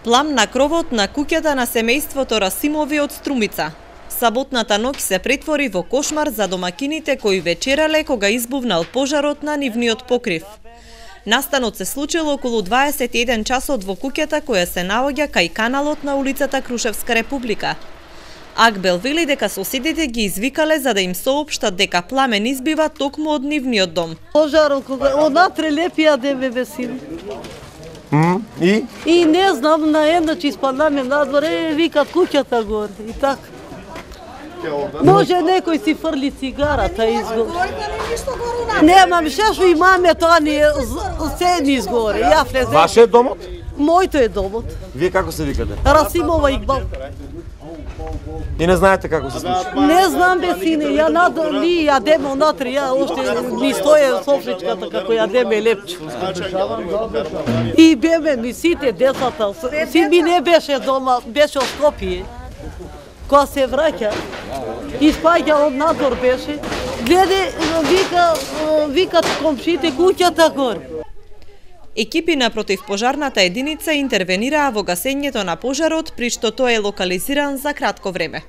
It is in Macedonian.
Плам на кровот на куќата на семејството Расимови од Струмица. Саботната ноќ се претвори во кошмар за домакините кои вечерале кога избувнал пожарот на нивниот покрив. Настанот се случил околу 21 часот во куќата која се наоѓа кај каналот на улицата Крушевска Република. Акбел вели дека соседите ги извикале за да им соопштат дека пламен избива токму од нивниот дом. Пожарот кога однатре лепија деме весин. И не знам, на еднаш испаднаме надвор, викат куќата горе и така. Може некој си фрли цигарата изгоре. Немам шешо и маме, тоа ни се изгоре. Ја влезем. Ваше е домот? Мојто е домот. Вие како се викате? Расимова Игбал. И не знаете како се случи? Не знам бе сине, ја надор ни јадеме онатре, ја уште ми стоја софричката како јадеме лепче. И беме ми сите децата, син ми не беше дома, беше од Скопје. Кога се враќа, испаѓа од надвор беше, гледе, викат комшите куќата горе. Екипи на противпожарната единица интервенираа во гасењето на пожарот, при што тој е локализиран за кратко време.